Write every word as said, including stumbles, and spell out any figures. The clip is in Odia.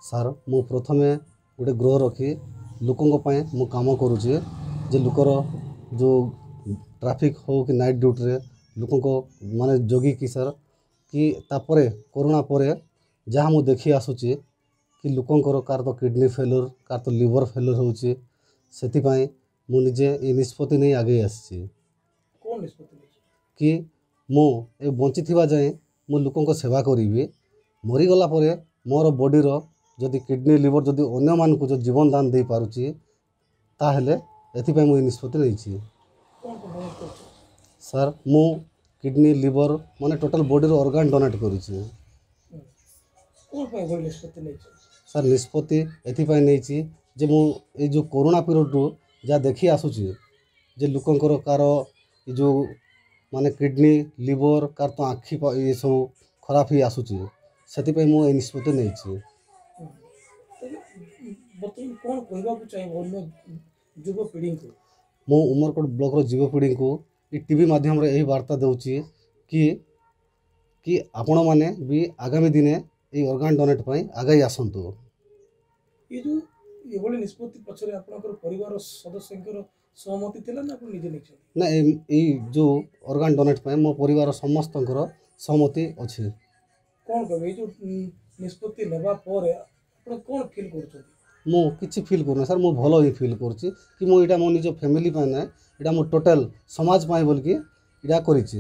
ସାର୍, ମୁଁ ପ୍ରଥମେ ଗୋଟେ ଗୃହ ରଖି ଲୋକଙ୍କ ପାଇଁ ମୁଁ କାମ କରୁଛି ଯେ ଲୋକର ଯେଉଁ ଟ୍ରାଫିକ୍ ହଉ କି ନାଇଟ୍ ଡ୍ୟୁଟିରେ ଲୋକଙ୍କ ମାନେ ଜଗିକି ସାର୍, କି ତାପରେ କରୋନା ପରେ ଯାହା ମୁଁ ଦେଖି ଆସୁଛି କି ଲୋକଙ୍କର କାହାର ତ କିଡ଼ନୀ ଫେଲୁଅର୍, କାହାର ତ ଲିଭର୍ ଫେଲୁଅର୍ ହେଉଛି, ସେଥିପାଇଁ ମୁଁ ନିଜେ ଏ ନିଷ୍ପତ୍ତି ନେଇ ଆଗେଇ ଆସିଛି। କ'ଣ ନିଷ୍ପତ୍ତି ନେଇଛ? କି ମୁଁ ଏ ବଞ୍ଚିଥିବା ଯାଏଁ ମୁଁ ଲୋକଙ୍କ ସେବା କରିବି। ମରିଗଲା ପରେ ମୋର ବଡ଼ିର ଯଦି କିଡ଼ନୀ, ଲିଭର୍ ଯଦି ଅନ୍ୟମାନଙ୍କୁ ଯଦି ଜୀବନ ଦାନ ଦେଇପାରୁଛି, ତାହେଲେ ଏଥିପାଇଁ ମୁଁ ଏ ନିଷ୍ପତ୍ତି ନେଇଛି। କ'ଣ କ'ଣ ଡୋନେଟ୍ କରୁଛ? ସାର୍, ମୁଁ କିଡ଼ନୀ, ଲିଭର୍ ମାନେ ଟୋଟାଲ୍ ବଡ଼ିର ଅର୍ଗାନ୍ ଡୋନେଟ୍ କରିଛି। କ'ଣ ପାଇଁ ଏଭଳି ନିଷ୍ପତ୍ତି ନେଇଛ? ସାର୍, ନିଷ୍ପତ୍ତି ଏଥିପାଇଁ ନେଇଛି ଯେ ମୁଁ ଏଇ ଯେଉଁ କରୋନା ପିରିୟଡ଼ରୁ ଯାହା ଦେଖି ଆସୁଛି ଯେ ଲୋକଙ୍କର କାହାର ଏ ଯେଉଁ ମାନେ କିଡ଼ନୀ, ଲିଭର୍, କାହାର ତ ଆଖି ଏସବୁ ଖରାପ ହେଇ ଆସୁଛି, ସେଥିପାଇଁ ମୁଁ ଏଇ ନିଷ୍ପତ୍ତି ନେଇଛି। ତେବେ ବର୍ତ୍ତମାନ କ'ଣ କହିବାକୁ ଚାହିଁବ ଅନ୍ୟ ଯୁବପିଢ଼ିଙ୍କୁ? ମୁଁ ଉମରକୋଟ ବ୍ଲକର ଯୁବପିଢ଼ିଙ୍କୁ ଏ ଟି ଭି ମାଧ୍ୟମରେ ଏହି ବାର୍ତ୍ତା ଦେଉଛି କି କି ଆପଣମାନେ ବି ଆଗାମୀ ଦିନେ ଏଇ ଅର୍ଗାନ୍ ଡୋନେଟ୍ ପାଇଁ ଆଗେଇ ଆସନ୍ତୁ। ଏ ଯେଉଁ ଏଭଳି ନିଷ୍ପତ୍ତି ପଛରେ ଆପଣଙ୍କର ପରିବାର ସଦସ୍ୟଙ୍କର ସହମତି ଥିଲା ନା ଆପଣ ନିଜେ ନେଇଛନ୍ତି? ନା, ଏଇ ଏଇ ଯେଉଁ ଅର୍ଗାନ୍ ଡୋନେଟ୍ ପାଇଁ ମୋ ପରିବାର ସମସ୍ତଙ୍କର ସହମତି ଅଛି। କ'ଣ କହିବେ, ଏଇ ଯେଉଁ ନିଷ୍ପତ୍ତି ନେବା ପରେ ଆପଣ କ'ଣ ଫିଲ୍ କରୁଛନ୍ତି? ମୁଁ କିଛି ଫିଲ୍ କରୁନି ସାର୍, ମୁଁ ଭଲ ହିଁ ଫିଲ୍ କରୁଛି କି ମୁଁ ଏଇଟା ମୋ ନିଜ ଫ୍ୟାମିଲି ପାଇଁ ନାହିଁ, ଏଇଟା ମୁଁ ଟୋଟାଲ୍ ସମାଜ ପାଇଁ ବୋଲିକି ଏଇଟା କରିଛି।